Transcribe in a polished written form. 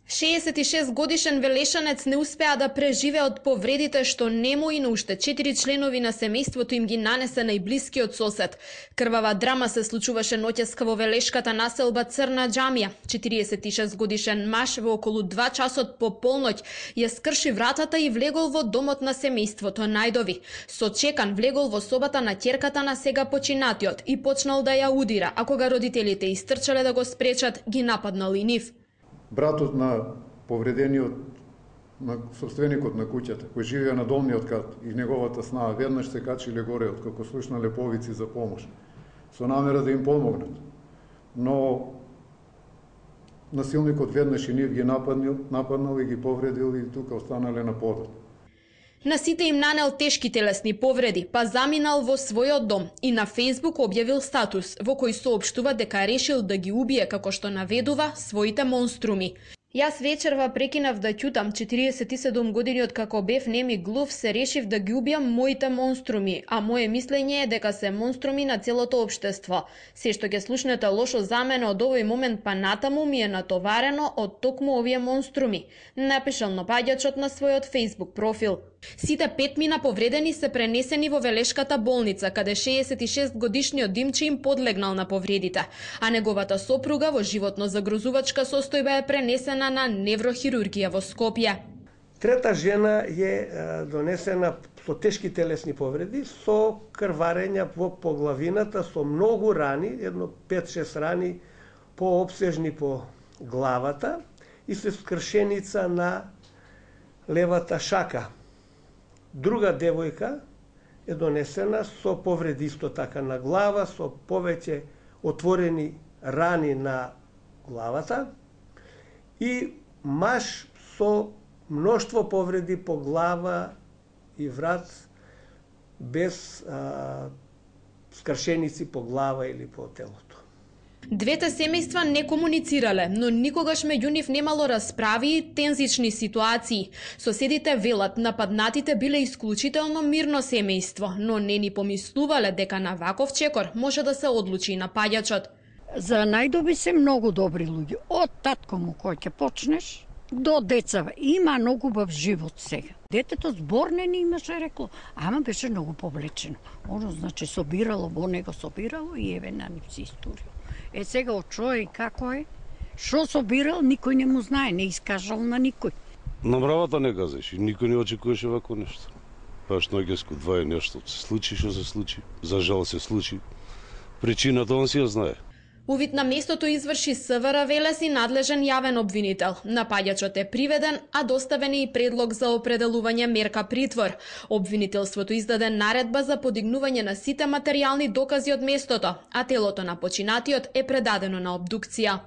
66 годишен велешанец не успеа да преживее од повредите што нему и на уште 4 членови на семејството им ги нанесе најблискиот сосед. Крвава драма се случуваше ноќеска во велешката населба Црна џамија. 46 годишен маж во околу 2 часот по полноќ ја скрши вратата и влегол во домот на семејството Најдови. Со чекан влегол во собата на ќерката на сега починатиот и почнал да ја удира, а кога родителите истрчале да го спречат, ги нападнал и нив. Братот на повредениот, на собственикот на куќата, кој живеа на долниот кат и неговата снага, веднаш се качиле горе откако слушнале повици за помош, со намера да им помогнат. Но насилникот веднаш и нив ги нападнал и ги повредил и тука останале на подот. На сите им нанел тешки телесни повреди, па заминал во својот дом и на Facebook објавил статус во кој соопштува дека решил да ги убие, како што наведува, своите монструми. Јас вечерва прекинав да ќутам, 47 години од како бев нем и глув, се решив да ги убијам моите монструми, а моje мислење е дека се монструми на целото општество. Се што ќе слушнете лошо за мене од овој момент па натаму ми е натоварено од токму овие монструми, напишал напаѓачот на својот Facebook профил. Сите 5 мина повредени се пренесени во Велешката болница, каде 66 годишниот Димче им подлегнал на повредите, а неговата сопруга во животно загрозувачка состојба е пренесена на неврохирургија во Скопје. Трета жена е донесена со тешки телесни повреди, со крварења во поглавината, со многу рани, едно 5-6 рани поопсежни по главата и со скршеница на левата шака. Друга девојка е донесена со повреди исто така на глава, со повеќе отворени рани на главата и маж со мноштво повреди по глава и врат без скршеници по глава или по телото. Двете семејства не комуницирале, но никогаш меѓу нив немало расправи и тензични ситуации. Соседите велат, нападнатите биле исклучително мирно семејство, но не ни помислувале дека на ваков чекор може да се одлучи и напаѓачот. За Најдови се многу добри луѓе. Од татко му кој ќе почнеш, до децава. Има многу бав живот сега. Детето зборне не имаше рекло, ама беше многу повлечено. Оно значи собирало, во него собирало и еве на нив се историја. Е сега од човек како е, шо собирал, никој не му знае, не искажал на никој. На мравата не казаш и никој не очекуваше вако нешто. Баш ноќеско 2 е нешто се случи, што се случи, за жал се случи. Причината он си ја знае. Увид на местото изврши СВР Велес и надлежен јавен обвинител. Напаѓачот е приведен, а доставен е и предлог за определување мерка притвор. Обвинителството издаде наредба за подигнување на сите материјални докази од местото, а телото на починатиот е предадено на обдукција.